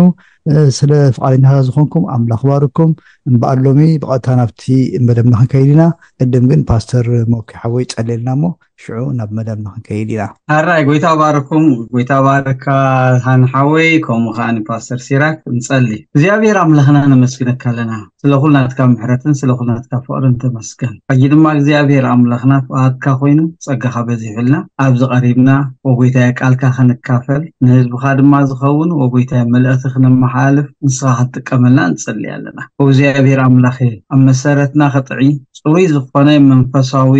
ስለ ፍቓደኛታት ዝኾንኩም ኣምላኽ ባርኩም። እምበኣር ሎሚ ብቐጥታ ናብቲ መደብና ክንከይድ ኢና። ቅድም ግን ፓስተር ሞኪ ሓወይ ጸልየልና እሞ ሽዑ ናብ መደብና ክንከይድ ኢና። ኣራይ ጎይታ ባርኩም። ጎይታ ባርካ ሃን ሓወይ፣ ከምኡ ከኣ ንፓስተር ሲራክ ንጸሊ። እግዚኣብሔር ኣምላኽና ነመስግነካ ኣለና፣ ስለ ኩሉ ናትካ ምሕረትን ስለ ኩሉ ናትካ ፍቕርን ተመስገን። ሕጂ ድማ እግዚኣብሔር ኣምላኽና ፍቓድካ ኮይኑ ጸጋኻ በዚሑልና ኣብዚ ቀሪብና፣ ወጎይታየ ቃልካ ክንካፈል ንህዝብኻ ድማ ዝኸውን ወጎይታየ መልእኽቲ ክነመሓላልፍ ንስኻ ክትጥቀመልና ንጸሊ ኣለና። እግዚኣብሔር ኣምላኸ፣ ኣብ መሰረትና ከጥዒ ጽሩይ ዝኾነ መንፈሳዊ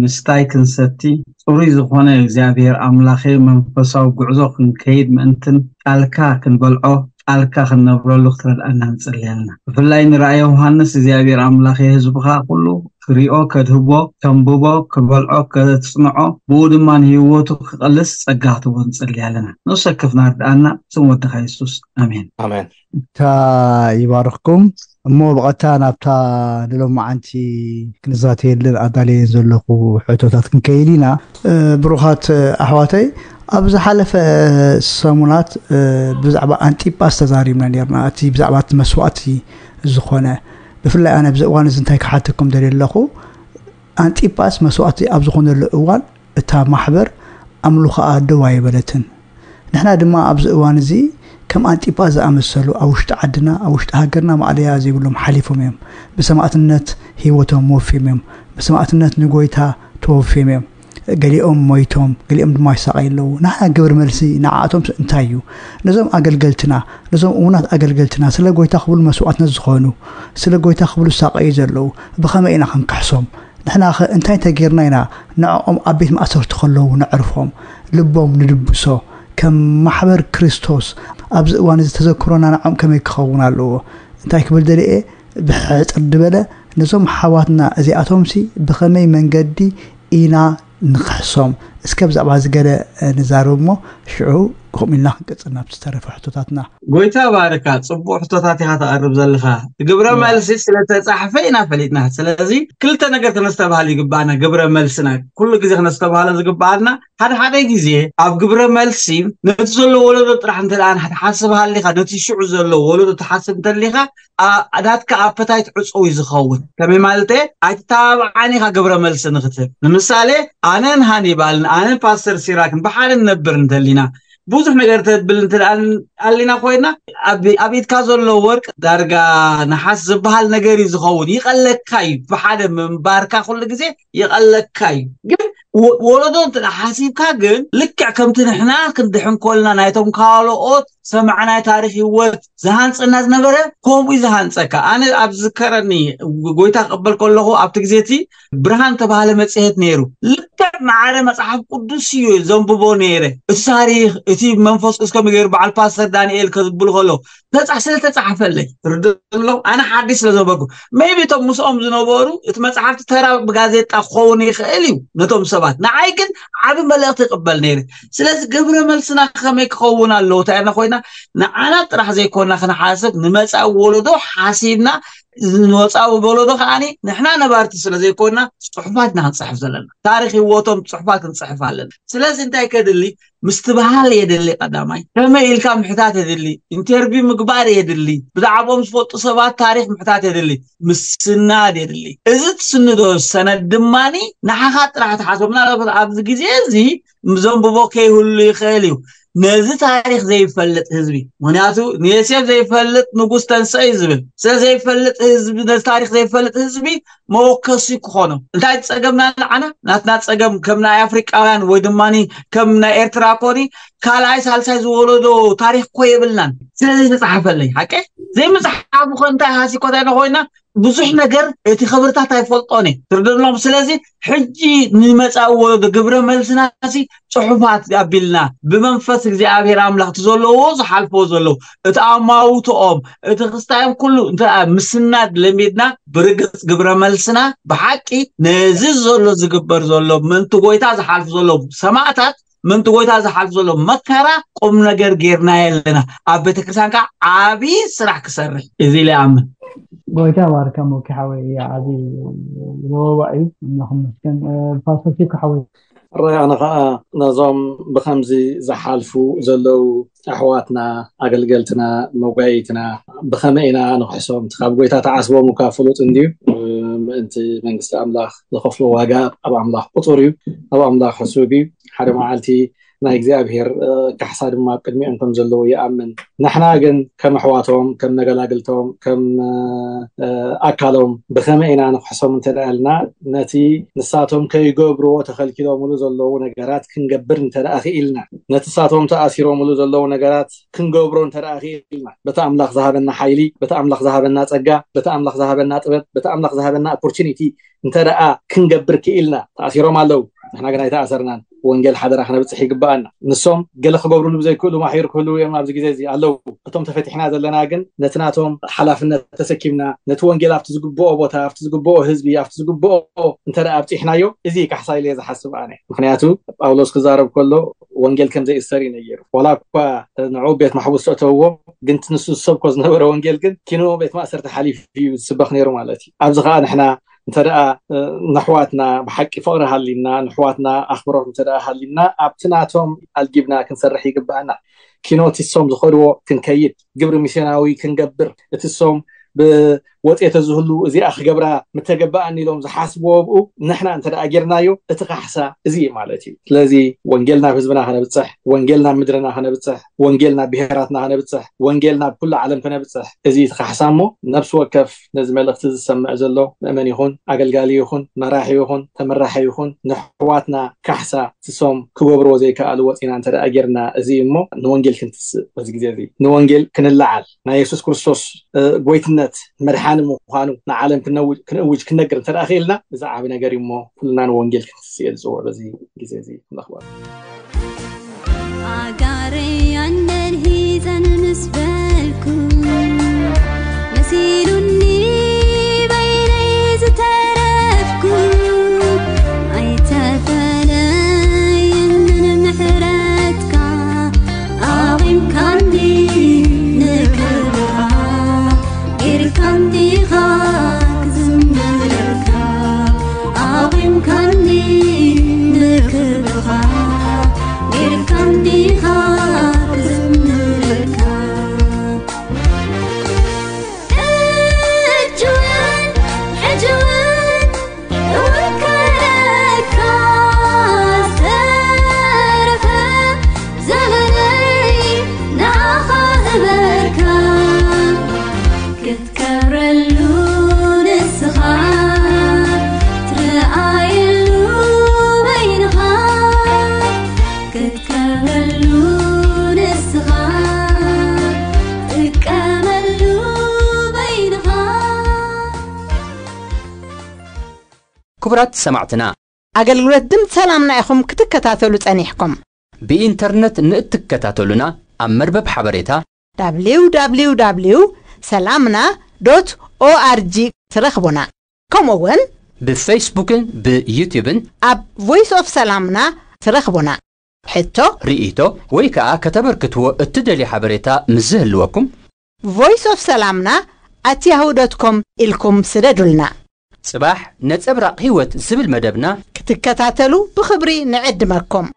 ምስታይ ክንሰቲ፣ ጽሩይ ዝኾነ እግዚኣብሔር ኣምላኸ መንፈሳዊ ጉዕዞ ክንከይድ ምእንትን ቃልካ ክንበልዖ፣ ቃልካ ክንነብረሉ ክትረድኣና ንጽሊ ኣለና። ብፍላይ ንራእየ ዮሃንስ እግዚኣብሔር ኣምላኸ ህዝብኻ ኩሉ ክሪኦ፣ ከድህቦ፣ ከንብቦ፣ ክበልዖ፣ ከጽንዖ፣ ብኡ ድማ ንህይወቱ ክቐልስ ጸጋ ክትቦ ንጽሊ ኣለና። ንሱ ከፍና ርድኣና፣ ስም ወድኻ የሱስ። ኣሜን። ኣሜን። እታ ይባርኽኩም። እሞ ብቐጥታ ናብታ ንሎማዓንቲ ክንዛተየልን ኣዳልየን ዘለኹ ሕቶታት ክንከይድ ኢና። እ፣ ብሩኻት፣ እ፣ ኣሕዋተይ፣ ኣብ ዝሓለፈ ሰሙናት፣ እ፣ ብዛዕባ ኣንጢጳስ ተዛሪብና ነርና። እቲ ብዛዕባ እቲ መስዋእቲ ዝኾነ፣ ብፍላይ ኣነ ኣብዚ እዋን እዚ እንታይ ክሓተኩም ደልየ ኣለኹ፣ ኣንጢጳስ መስዋእቲ ኣብ ዝኾነሉ እዋን እታ ማሕበር ኣምልኾኣ ደው ኣይበለትን። ንሕና ድማ ኣብዚ እዋን እዚ ከም ኣንጢጳስ ዝኣመሰሉ ኣብ ውሽጢ ዓድና፣ ኣብ ውሽጢ ሃገርና ማእለያ ዘይብሎም ሓሊፎም እዮም። ብሰማእትነት ህይወቶም ወፍዮም እዮም። ብሰማእትነት ንጎይታ ተወፍዮም እዮም። ገሊኦም ሞይቶም፣ ገሊኦም ድማ ይሳቐዩ ኣለዉ። ንሕና ግብረ መልሲ ንዓኣቶም እንታይ እዩ? ነዞም ኣገልገልትና፣ ነዞም እሙናት ኣገልገልትና፣ ስለ ጎይታ ክብሉ መስዋእትነት ዝኾኑ፣ ስለ ጎይታ ክብሉ ዝሳቐዩ ዘለዉ፣ ብኸመይ ኢና ክንክሕሶም? ንሕናኸ እንታይ እንተጌርና ኢና ንዕኦም ኣብ ቤት ማእሰርቲ ከለዉ ነዕርፎም? ልቦም ንድብሶ። ከም ማሕበር ክርስቶስ ኣብዚ እዋን እዚ ተዘክሮና ንዕኦም ከመይ ክኸውን ኣለዎ? እንታይ ክብል ደልየ? ብሕጽር ዝበለ ነዞም ኣሕዋትና እዚኣቶምሲ ብኸመይ መንገዲ ኢና ንኽሕሶም? እስከ ብዛዕባ እዚ ገለ ንዛረብ እሞ ሽዑ ከምኡ ኢልና ክንቅጽል ናብ ዝተረፈ ሕቶታትና። ጎይታ ባርካ፣ ጽቡቕ ሕቶታት ኢኻ ተቕርብ ዘለኻ። ግብረ እያ። መልሲ ስለ ተጻሕፈ ኢና ፈሊጥና። ስለዚ ክልተ ነገር ከነስተብሃል ይግባኣና። ግብረ መልስና ኩሉ ግዜ ከነስተብሃሎ ዝግባኣና፣ ሓደ ሓደ ግዜ ኣብ ግብረ መልሲ ነቲ ዘሎ ወለዶ ጥራሕ እንተ ደኣ ንሓ-፣ ትሓስብ ሃሊኻ፣ ነቲ ሽዑ ዘሎ ወለዶ ትሓስብ እንተሊኻ፣ ኣ-፣ ናትካ ኣፐታይት ዕጹው እዩ ዝኸውን። ከመይ ማለት እየ? ኣይትተባብዓን ኢኻ ግብረ መልሲ ንክትህብ። ንምሳሌ፣ ኣነን ሃኒባልን ኣነን ፓስተር ሲራክን ብሓደ ንነብር እንተሊና፣ ብዙሕ ነገር ተብል እንተ ደኣ ኣሊና ኮይና፣ ኣብ፣ ኣብ ኢድካ ዘሎ ወርቅ ዳርጋ ነሓስ ዝበሃል ነገር እዩ ዝኸውን። ይቐለካ እዩ። ብሓደ ምንባርካ ኩሉ ግዜ ይቐለካ እዩ። ግን ወ-፣ ወለዶ እንተ ደኣ ሓሲብካ ግን ልክዕ ከምቲ ንሕና ክንድሕን ከልና ናይቶም ካልኦት ሰማዕናይ ታሪኽ ህይወት ዝሃንጸና ዝነበረ ከምኡ እዩ ዝሃንጸካ። ኣነ ኣብ ዝከረኒ ጎይታ ክቕበል ከለኹ ኣብቲ ግዜ እቲ ብርሃን ተባሃለ መጽሔት ነይሩ። ልክዕ ማዕረ መጽሓፍ ቅዱስ እዩ ዘንብቦ ነይረ። እቲ ታሪኽ፣ እቲ መንፈስ ቅዱስ ከምኡ ገይሩ በዓል ፓስተር ዳንኤል ከዝብሉ ከለዉ ተጻ-፣ ስለ ተጻሕፈለይ። ትርድእ ኣሎ? ኣነ ሓዲሽ ስለ ዘበኩ። ሜይቢ እቶም ምስኦም ዝነበሩ እቲ መጽሓፍቲ ተራ ብጋዜጣ ክኸውን ይኽእል እዩ ነቶም ሰባት። ንዓይ ግን ዓቢ መልእኽቲ ይቕበል ነይረ። ስለዚ ግብረ መልስና ከመይ ክኸውን ኣለዎ? እንታይ ኮይና ንዓና ጥራሕ ዘይኮና ክንሓስብ፣ ንመጻኢ ወለዶ ሓሲብና፣ ንመጻኢ ወለዶ ከኣኒ ንሕና ነባርቲ ስለ ዘይኮና ጽሑፋት ኢና ክንጽሕፍ ዘለና። ታሪኽ ህይወቶም ጽሑፋት ክንጽሕፍ ኣለና። ስለዚ እንታይ ከድሊ? ምስትብሃል የድሊ ቀዳማይ። ከመይ ኢልካ ምሕታት የድሊ። ኢንተርቪው ምግባር የድሊ። ብዛዕባኦም ዝፈልጡ ሰባት ታሪኽ ምሕታት የድሊ። ምስናድ የድሊ። እዚ ትስንዶ ሰነድ ድማኒ ንዓኻ ጥራሕ ትሓስቦ። ምናልባት ኣብዚ ግዜ እዚ ዘንብቦ ከይህሉ ይኽእል እዩ። ነዚ ታሪኽ ዘይፈልጥ ህዝቢ፣ ምኽንያቱ ንዮሴፍ ዘይፈልጥ ንጉስ ተንስእ እዩ ዝብል። ስለ ዘይፈልጥ ህዝቢ፣ ነዚ ታሪኽ ዘይፈልጥ ህዝቢ መወከሲ ክኾኖ። እንታይ ጸገምና ንዓና? ናትና ጸገም ከም ናይ ኣፍሪቃውያን ወይ ድማ ከም ናይ ኤርትራ ኮኒ ካልኣይ ሳልሳይ ዝወለዶ ታሪኽ እኮ የብልናን። ስለ ዘይተጻሓፈለይ፣ ሓቀ ዘይምጽሓፉ ኮ እንታይ ሃሲ ኮ እንታይ ኮይና ብዙሕ ነገር እቲ ክብርታት ኣይፈልጦን እየ። ትርድእሎም። ስለዚ ሕጂ ንመጻኢ ወለዶ ግብረ መልስና ሲ ጽሑፋት ኣቢልና ብመንፈስ እግዚኣብሔር ኣምላኽ እቲ ዘለዎ ዝሓልፎ ዘለዉ እቲ ኣማውትኦም እቲ ክስታዮም ኩሉ እንተ ምስናድ ለሚድና ብርግጽ ግብረ መልስና ብሓቂ ነዚ ዘሎ ዝግበር ዘሎ ምእንቲ ጎይታ ዝሓልፉ ዘለዉ ሰማዕታት ምእንቲ ጎይታ ዝሓልፍ ዘሎ መከራ ቁም ነገር ጌርናዮ ኣለና። ኣብ ቤተክርስትያን ከዓ ዓብዪ ስራሕ ክሰርሕ እዚ ኢለ ይኣምን። ጎይታ ባርካ ሞኪ ሓወይ፣ ዓብዪ ሮባ እዩ። ኣምላኽ ይመስገን። እ፣ ፓስተር ሲኩ ሓወይ። ኣነ ከዓ ነዞም ብከምዚ ዝሓልፉ ዘለዉ ኣሕዋትና፣ ኣገልገልትና፣ መጓይትና ብኸመይ ኢና ንክሕሶም? ካብ ጎይታ ተዓስቦም እኳ ፍሉጥ እንድዩ። ምእንቲ መንግስቲ ኣምላኽ ዝኸፍሎ ዋጋ ኣብ ኣምላኽ ቁፁር እዩ። ኣብ ኣምላኽ ሕሱግ እዩ። ሓደ መዓልቲ ናይ እግዚኣብሔር ካሕሳ ድማ ኣብ ቅድሚኦም ከም ዘለዉ ይኣምን። ንሕና ግን ከም ኣሕዋቶም፣ ከም መገላግልቶም፣ ከም ኣካሎም ብኸመይ ኢና ንክሕሶም እንተ ኢልና፣ ነቲ ንሳቶም ከይገብርዎ ተኸልኪሎምሉ ዘለዉ ነገራት ክንገብር እንተ ክኢልና፣ ነቲ ንሳቶም ተኣሲሮምሉ ዘለዉ ነገራት ክንገብሮ እንተ ክኢልና፣ በቲ ኣምላኽ ዝሃበና ሓይሊ፣ በቲ ኣምላኽ ዝሃበና ጸጋ፣ በቲ ኣምላኽ ዝሃበና ጥበብ፣ በቲ ኣምላኽ ዝሃበና ኦፖርቹኒቲ እንተ ደኣ ክንገብር ክኢልና። ተኣሲሮም ኣለዉ፣ ንሕና ግን ኣይተኣሰርናን። ወንጌል ሓደራ ክነብጽሕ ይግብኣና። ንሶም ገለ ክገብሩሉ ብዘይክእሉ ማሕዩር ክህልዉ እዮም ኣብዚ ግዜ እዚ ኣለዉ። እቶም ተፈቲሕና ዘለና ግን ነቲ ናቶም ሓላፍነት ተሰኪምና፣ ነቲ ወንጌል ኣብቲ ዝግብኦ ቦታ፣ ኣብቲ ዝግብኦ ህዝቢ፣ ኣብቲ ዝግብኦ እንተ ደኣ ኣብጺሕናዮ፣ እዚ ካሕሳ ኢለ እየ ዝሓስብ ኣነ። ምኽንያቱ ጳውሎስ ክዛረብ ከሎ ወንጌል ከም ዘይእሰር እዩ ነጊሩ። ዋላ እኳ ንዑ ቤት ማሕቡስ ተእተውዎ፣ ግን እቲ ንሱ ዝሰብኮ ዝነበረ ወንጌል ግን ኪኖ ቤት ማእሰርቲ ሓሊፉ እዩ ዝስበኽ ነይሩ ማለት እዩ። ኣብዚ ከዓ ንሕና እንተ ደኣ ነሕዋትና ብሓቂ ፍቕሪ ሃሊና፣ ነሕዋትና ኣኽብሮት እንተ ደኣ ሃሊና፣ ኣብቲ ናቶም ኣልጊብና ክንሰርሕ ይግብኣና። ኪኖ እቲ ሶም ዝኸድዎ ክንከይድ፣ ግብሪ ሚስዮናዊ ክንገብር፣ እቲ ሶም ብወፅኤተ ዝህሉ እዚኣ ክገብራ ምተገበኣኒ ኢሎም ዝሓስብዎ ብኡ ንሕና እንተ ደኣ ጌርናዮ፣ እቲ ካሕሳ እዚ እዩ ማለት እዩ። ስለዚ ወንጌል ናብ ህዝብና ከነብፅሕ፣ ወንጌል ናብ ምድርና ከነብፅሕ፣ ወንጌል ናብ ብሄራትና ከነብፅሕ፣ ወንጌል ናብ ኩሉ ዓለም ከነብፅሕ፣ እዚ እቲ ካሕሳ እሞ ነብሲ ወከፍ ነዚ መልእኽቲ ዝሰምዕ ዘሎ ምእመን ይኹን፣ ኣገልጋሊ ይኹን፣ መራሒ ይኹን፣ ተመራሒ ይኹን፣ ንሕዋትና ካሕሳ ትሶም ክገብርዎ ዘይከኣሉ ወፂና እንተ ደኣ ጌርና፣ እዚ እሞ ንወንጌል ክንትስእ በዚ ግዜ እዚ፣ ንወንጌል ክንለዓል፣ ናይ የሱስ ክርስቶስ እ፣ ጎይትነት መድሓኒ ምዃኑ ንዓለም ክነውጅ፣ ክንእውጅ፣ ክነግር እንተ ደኣ ክኢልና፣ እዚ ዓቢ ነገር እዩ እሞ ኩልና ንወንጌል ክንትስእ እየ ዝፅውዕ በዚ ግዜ እዚ። ኣምላኽ ይባርክ። ኣጋረይ ኣነን ሂዘን ምስ በልኩ፣ መሲሉኒ በይነይ ዝተረፍኩ፣ ኣይተፈለየንን ምሕረትካ፣ ኣቑምካኒ ንክብርኻ፣ ጌርካኒ ዲኻ ክዝምረልካ፣ ኣቑምካኒ ንክብርኻ፣ ጌርካኒ ዲኻ ክዝምረልካ። ሕጂ እውን፣ ሕጂ እውን እውከለካ፣ ዝተረፈ ዘመነይ ንዓኻ እበርካ። ክትከብረሉ ንስኻ፣ ትረኣየሉ በይንኻ። ክትከብረሉ ንስኻ፣ ትጥቀመሉ በይንኻ። ክቡራት ሰማዕትና፣ ኣገልግሎት ድምፂ ሰላምና ኢኹም ክትከታተሉ ጸኒሕኩም። ብኢንተርነት ንእትከታተሉና፣ ኣብ መርበብ ሓበሬታ www ሰላምና ዶት ኦኣርጂ ትረኽቡና። ከምኡ እውን ብፌስቡክን ብዩትዩብን ኣብ ቮይስ ኦፍ ሰላምና ትረኽቡና። ሕቶ፣ ርኢቶ ወይ ከኣ ከተበርክትዎ እትደልዩ ሓበሬታ ምስ ዝህልወኩም፣ ቮይስ ኦፍ ሰላምና ኣት ያሁ ዶት ኮም ኢልኩም ስደዱልና። ጽባሕ ነጸብራቕ ህይወት ዝብል መደብና ክትከታተሉ ብኽብሪ ንዕድመኩም።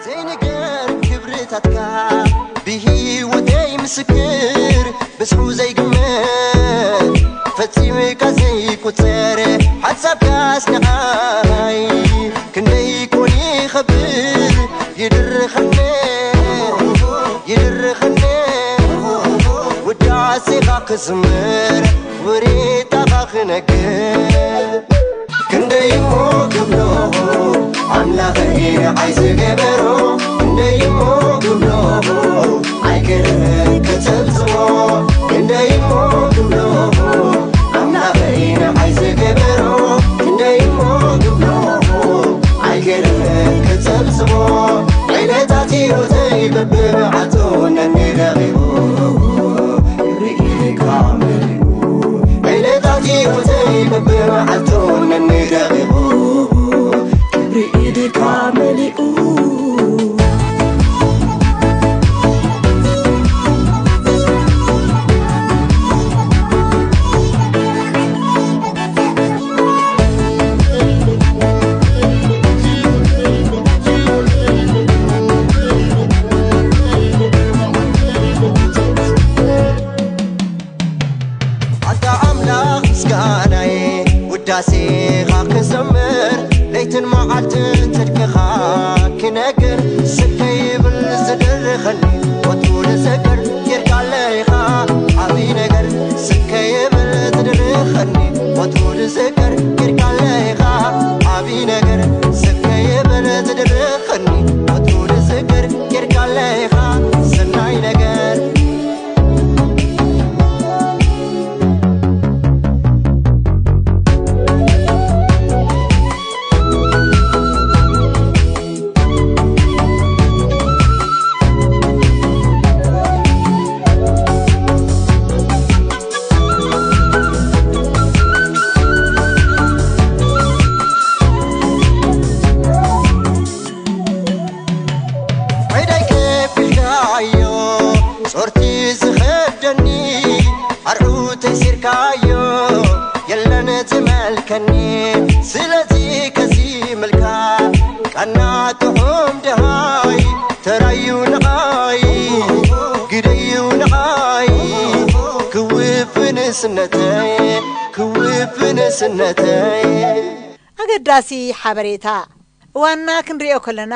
ዘይንገር ክብርታትካ ብህይወተይ ምስክር፣ ብዝሑ ዘይግመት ፈጺምካ ዘይቁጸር ሓሳብካስ ንዓይ ክንደይ ኮን ይኸብር። ይድርኸኒ፣ ይድርኸኒ ውዳሴኻ ክዝምር፣ ውሬታኻ ክነግር። ክንደይ እሞ ክብሎ ኣምላኸይ ንዓይ ዝገበሮ፣ ክንደይ እሞ ክብሎ ኣይክእል ክጽብጽቦ፣ ክንደይ እሞ ክብሎ ኣምላኸይ ንዓይ ዝገበሮ፣ ክንደይ እሞ ክብሎ ኣይክእል ክጽብጽቦ። ዕለታት ህይወተይ በብመዓልቱ ነኒደቂቑ ክብሪ ኢድካ መሊኡ። ዕለታት ህይወተይ በብመዓልቱ ነኒደቂቑ ክብሪ ኢድካ መሊኡ። ነገር ስከይብል ዝድርኸኒ ወትሩ ዝዝክር ጌርካለይ ኢኻ ዓብዪ ነገር ስከይብል ዝድርኸኒ ወትሩ ዝዝክር ጌርካለይ ኢኻ ዓብዪ ነገር ስከይብል ዝድርኸኒ ወትሩ ዝዝክር ጌርካለይ ኢኻ ሰናይ ነገር ኣገዳሲ ሓበሬታ። እዋንና ክንርእዮ ከለና፣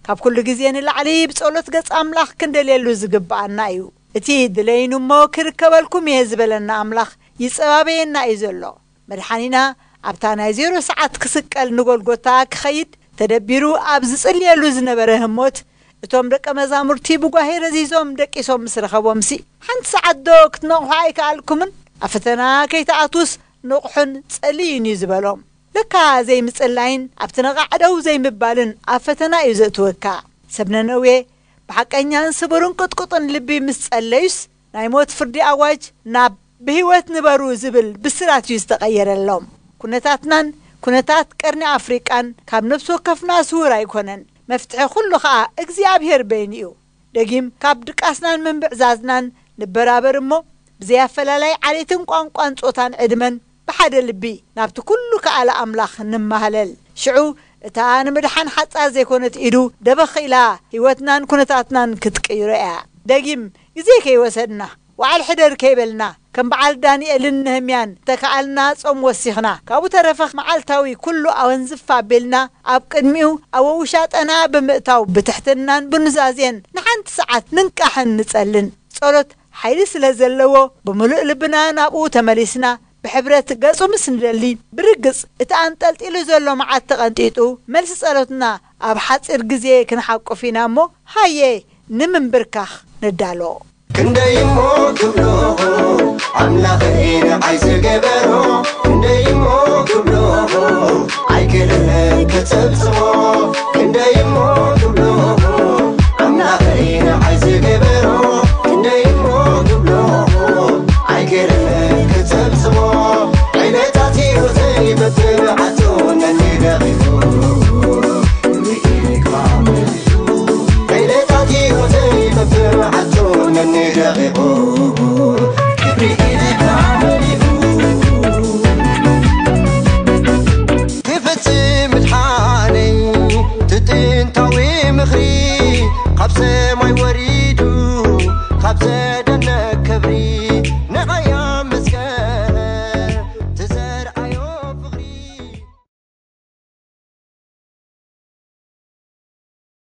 ካብ ኩሉ ግዜ ንላዕሊ ብጸሎት ገጽ ኣምላኽ ክንደልየሉ ዝግብኣና እዩ። እቲ ድለይኒ እሞ ክርከበልኩም እየ ዝበለና ኣምላኽ ይጸባበየና እዩ ዘሎ። መድሓኒና ኣብታ ናይ ዜሮ ሰዓት ክስቀል ንጎልጎታ ክኸይድ ተደቢሩ ኣብ ዝጽልየሉ ዝነበረ ህሞት፣ እቶም ደቀ መዛሙርቲ ብጓሄ ረዚዞም ደቂሶም ምስ ረኸቦምሲ፣ ሓንቲ ሰዓት ዶ ክትነቕሑ ኣይከኣልኩምን? ኣብ ፈተና ከይትኣትዉስ ንቕሑን ጸልዩን እዩ ዝበሎም። ለካ ዘይምጽላይን ኣብቲ ነቓዕ ደው ዘይምባልን ኣብ ፈተና እዩ ዘእትወካ። ሰብ ነነዌ ብሓቀኛን ስቡርን ቅጥቁጥን ልቢ ምስ ጸለዩስ፣ ናይ ሞት ፍርዲ ኣዋጅ ናብ ብህይወት ንበሩ ዝብል ብስራት እዩ ዝተቐየረሎም። ኩነታትናን ኩነታት ቀርኒ ኣፍሪቃን ካብ ነፍሲ ወከፍና ስውር ኣይኮነን። መፍትሒ ኩሉ ኸኣ እግዚኣብሔር በይኑ እዩ። ደጊም ካብ ድቃስናን ምንብዕዛዝናን ንበራበር እሞ፣ ብዘይ ኣፈላላይ ዓሌትን ቋንቋን ጾታን ዕድመን ብሓደ ልቢ ናብቲ ኩሉ ከኣለ ኣምላኽ ንማህለል። ሽዑ እታ ንምድሓን ሓጻር ዘይኮነት ኢዱ ደበኽ ኢላ ህይወትናን ኩነታትናን ክትቅይሮ እያ። ደጊም ግዜ ከይወሰድና፣ ወዓል ሕደር ከይበልና፣ ከም በዓል ዳንኤልን ነህምያን ተከኣልና ጾም ወሲኽና፣ ካብኡ ተረፈ መዓልታዊ ኩሉ ኣወንዝፍ ኣቢልና ኣብ ቅድሚኡ ኣብ ውሻጠና ብምእታው ብትሕትናን ብኑዛዜን ንሓንቲ ሰዓት ንንቃሕን ንጸልን። ጸሎት ሓይሊ ስለ ዘለዎ ብምሉእ ልብና ናብኡ ተመሊስና ብሕብረት ገጹ ምስ ንደሊ ብርግጽ እቲ ኣንጠልጢሉ ዘሎ መዓት ተቐንጢጡ መልሲ ጸሎትና ኣብ ሓጺር ግዜ ክንሓቁፍ ኢና እሞ ሃየ ንምንብርካኽ ንዳሎ። ክንደይ እሞ ክብሎ ኣምላኸይ ንዓይ ዝገበሮ ክንደይ እሞ ክብሎ ኣይክእልን ክጽብጽቦ ክንደይ እሞ ክብሎ ኣምላኸይ ንዓይ ዝገበሮ ክንደይ እሞ ክብሎ ኣይክእልን ክጽብጽቦ ዕለታት ህይወተይ በትር ዓጽውነተይ ደቒ